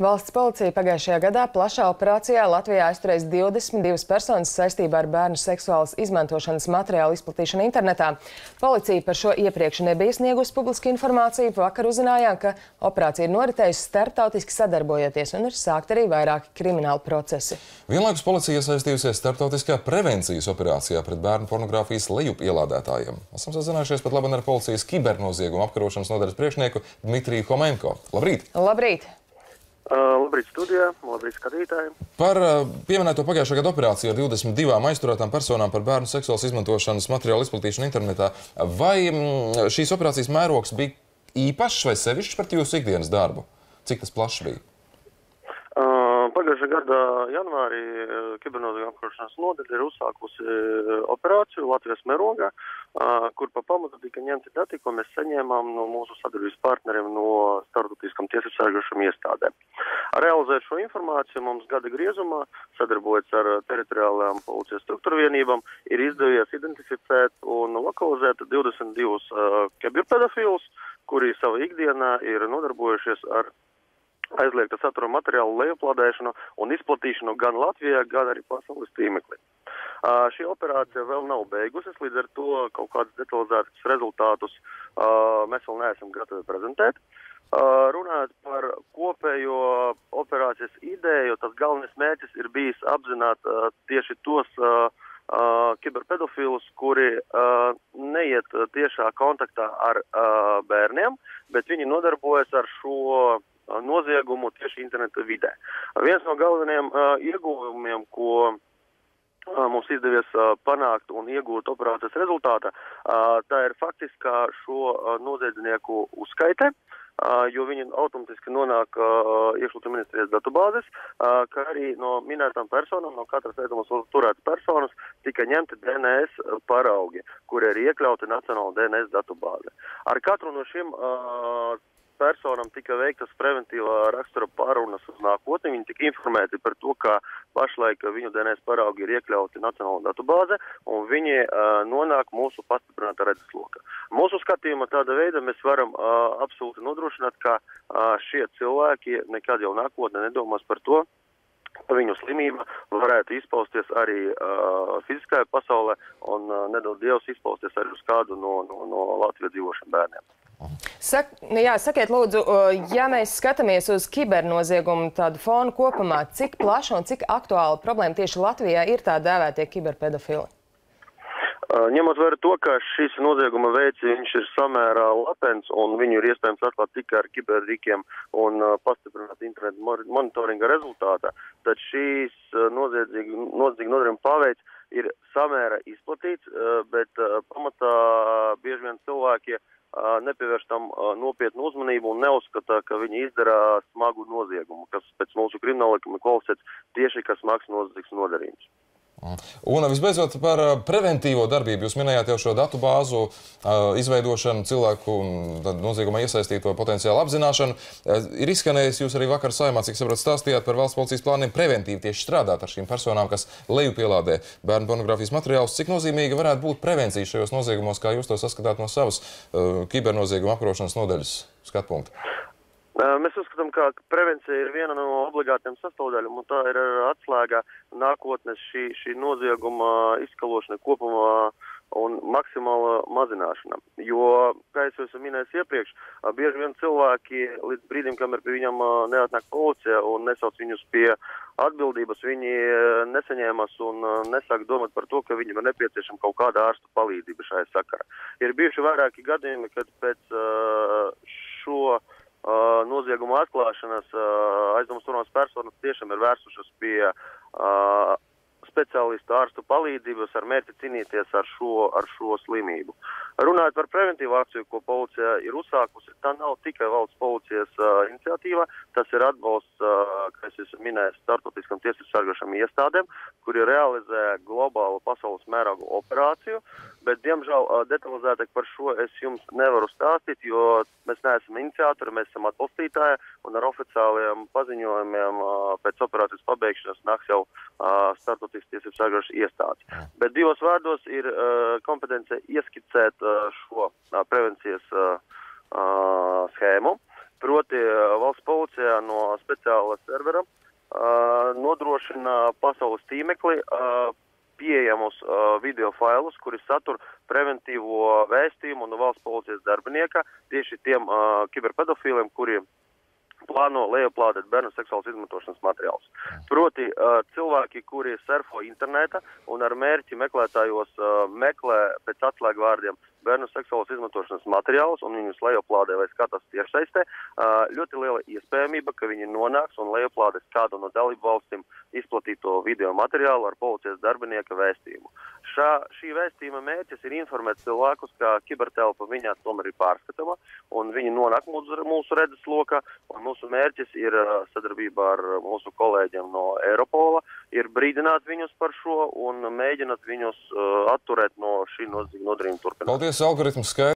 Valsts policija pagājušajā gadā plašā operācijā Latvijā aizturēs 22 personas saistībā ar bērnu seksuālas izmantošanas materiālu izplatīšanu internetā. Policija par šo iepriekš nebija sniegusi publisku informāciju. Vakar uzzinājām, ka operācija ir noritējusi starptautiski sadarbojoties un ir sākt arī vairāki krimināli procesi. Vienlaikus policija iesaistījusies starptautiskā prevencijas operācijā pret bērnu pornogrāfijas lejupielādētājiem. Esam sazinājušies pat labi ar policijas kibernoziegumu apkarošanas nodaļas priekšnieku Dmitriju Homenko. Labrīt! Labrīt! Labrīt studijā, labrīt skatītājiem. Par pieminēto pagājušā gada operāciju ar 22 aizturētām personām par bērnu seksuālas izmantošanas materiālu izplatīšanu internetā. Vai šīs operācijas mērogs bija īpašs vai sevišķs pret jūsu ikdienas darbu? Cik tas plašs bija? Pagājušā gada janvārī kibernoziegumu apkarošanas nodaļa ir uzsākusi operāciju Latvijas mērogā, kur pa pamatu tika ņemti dati, ko mēs saņēmām no mūsu sadarbības partneriem no starptautiskām tiesību sargājošām iestādēm. Realizēt šo informāciju mums gada griezumā, sadarbojoties ar teritoriālajām policijas struktūru vienībām, ir izdevies identificēt un lokalizēt 22 kiberpedofilus, kuri savā ikdienā ir nodarbojušies ar aizliegta satura materiālu lejuplādēšanu un izplatīšanu gan Latvijā, gan arī pasaules tīmeklī. Šī operācija vēl nav beigusies, līdz ar to kaut kādus detalizētus rezultātus mēs vēl neesam gatavi prezentēt. Runājot par kopējo operācijas ideju, tas galvenais mērķis ir bijis apzināt tieši tos kiberpedofilus, kuri neiet tiešā kontaktā ar bērniem, bet viņi nodarbojas ar šo noziegumu tieši interneta vidē. Viens no galvenajiem ieguvumiem, ko mums izdevies panākt un iegūt operācijas rezultātā, tā ir faktiskā šo noziedznieku uzskaite, jo viņi automatiski nonāk iekšlietu ministrijas datubāzes, kā arī no minētām personām, no katras ēdamos turētas personas, tika ņemti DNS paraugi, kuri ir iekļauti Nacionāla DNS datubāze. Ar katru no šiem personām tika veiktas preventīvā rakstura pārunas uz nākotni. Viņi tika informēti par to, ka pašlaik viņu DNS paraugi ir iekļauti Nacionālā datubāze un viņi nonāk mūsu pastiprinātā redzesloka. Mūsu skatījumā tāda veida mēs varam absolūti nodrošināt, ka šie cilvēki nekad jau nākotnē nedomās par to, ka viņu slimība varētu izpausties arī fiziskajā pasaulē un nedod Dievs izpausties arī uz kādu no Latvijas dzīvošiem bērniem. Sakiet lūdzu, ja mēs skatāmies uz kibernoziegumu tādu fonu kopumā, cik plaša un cik aktuāla problēma tieši Latvijā ir tā dēvētie kiberpedofili? Ņemot vērā to, ka šis nozieguma veids viņš ir samērā latents un viņu ir iespējams atklāt tikai ar kiberrīkiem un pastiprināt internetu monitoringa rezultātā, tad šīs noziedzīgi nodarījuma paveids ir samērā izplatīts, bet pamatā bieži vien cilvēki nepievērš tam nopietnu uzmanību un neuzskata, ka viņi izdara smagu noziegumu, kas pēc mūsu krimināla likuma kvalificēts tieši kā smags noziedzīgs nodarījums. Un visbeidzot par preventīvo darbību. Jūs minējāt jau šo datu bāzu izveidošanu, cilvēku noziegumā iesaistīto potenciālu apzināšanu. Ir izskanējis, jūs arī vakar Saeimā, cik sapratu, stāstījāt par valsts policijas plāniem preventīvi tieši strādāt ar šīm personām, kas lejupielādē bērnu pornogrāfijas materiālus. Cik nozīmīga varētu būt prevencija šajos noziegumos, kā jūs to saskatāt no savas kibernozieguma apkarošanas nodaļas skatpunkta? Mēs uzskatām, ka prevencija ir viena no obligātiem sastāvdaļām, un tā ir atslēga nākotnes šī nozieguma izskalošana kopumā un maksimāla mazināšana. Jo, kā es esmu minējis iepriekš, bieži vien cilvēki līdz brīdim, kamēr pie viņam neatnāk policija un nesauc viņus pie atbildības, viņi nesaņēmas un nesāk domāt par to, ka viņam ir nepieciešama kaut kāda ārsta palīdzība šajā sakarā. Ir bijuši vairāki gadījumi, kad pēc šo nozieguma atklāšanas aizdomas turamās personas tiešām ir vērsušas pie speciālistu ārstu palīdzības ar mērķi cīnīties ar šo slimību. Runājot par preventīvu akciju, ko policija ir uzsākusi, tā nav tikai valsts policijas iniciatīva, tas ir atbalsts, kā es esmu minējis, starptautiskām tiesību sargājošām iestādēm, kuri realizē globālu pasaules mēroga operāciju, bet, diemžēl, detalizētāk par šo es jums nevaru stāstīt, jo mēs neesam iniciatori, mēs esam atbalstītāji, un ar oficiālajiem paziņojumiem pēc operācijas pabeigšanas nāks jau starptautiskas tiesību sargājošas iestādes. Bet divos vārdos ir kompetence ieskicēt šo prevencijas schēmu, Proti valsts policijā no speciāla servera nodrošina pasaules tīmekli pieejamus video failus, kuri satur preventīvo vēstījumu no valsts policijas darbinieka tieši tiem kiberpedofīliem, kuri plāno lejuplādēt bērnu seksuālas izmantošanas materiālus. Proti cilvēki, kuri surfo interneta un ar mērķi meklētājos meklē pēc atslēgvārdiem bērnu seksuālas izmantošanas materiālus un viņus lejuplādē vai skatās tiešsaistē, ļoti liela iespējamība, ka viņi nonāks un lejuplādēs kādu no dalību valstīm izplatīto video materiālu ar policijas darbinieka vēstījumu. Šī vēstījuma mērķis ir informēt cilvēkus, ka kibertelpa viņā tomēr ir pārskatama un viņi nonāk mūsu redzeslokā, un mūsu mērķis ir sadarbībā ar mūsu kolēģiem no Eiropola, ir brīdināt viņus par šo un mēģināt viņus atturēt no šī nodarījuma turpināšanas. Paldies, algoritms skaidrs.